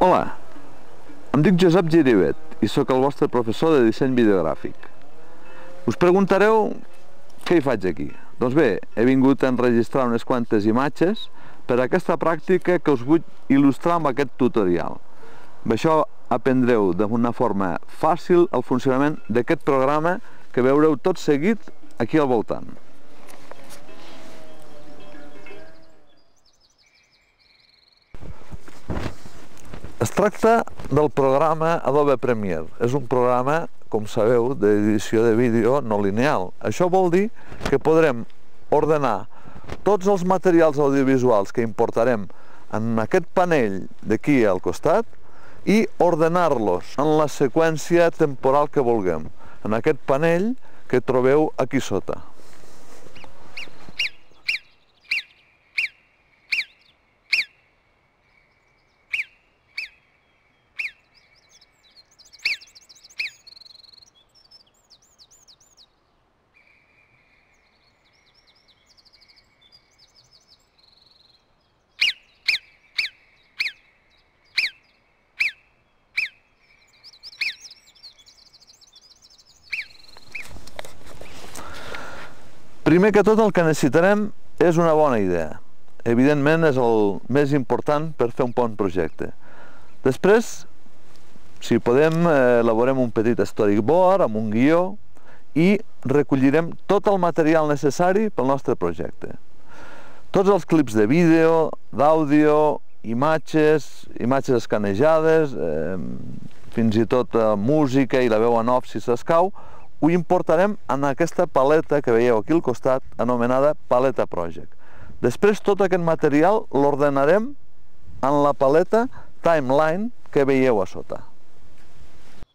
Hola, em dic Josep Girivet i sóc el vostre professor de disseny videogràfic. Us preguntareu què hi faig aquí? Doncs bé, he vingut a enregistrar unes quantes imatges per a aquesta pràctica que us vull il·lustrar amb aquest tutorial. Amb això aprendreu d'una forma fàcil el funcionament d'aquest programa que veureu tot seguit aquí al voltant. Es tracta del programa Adobe Premiere. És un programa, com sabeu, d'edició de vídeo no lineal. Això vol dir que podrem ordenar tots els materials audiovisuals que importarem en aquest panell d'aquí al costat i ordenar-los en la seqüència temporal que vulguem, en aquest panell que trobeu aquí sota. Primer que tot el que necessitarem és una bona idea. Evidentment és el més important per fer un bon projecte. Després, si podem, elaborem un petit storyboard amb un guió i recollirem tot el material necessari pel nostre projecte. Tots els clips de vídeo, d'àudio, imatges escanejades, fins i tot música i la veu en off si s'escau, ho importarem en aquesta paleta que veieu aquí al costat, anomenada Paleta Project. Després tot aquest material l'ordenarem en la paleta Timeline que veieu a sota.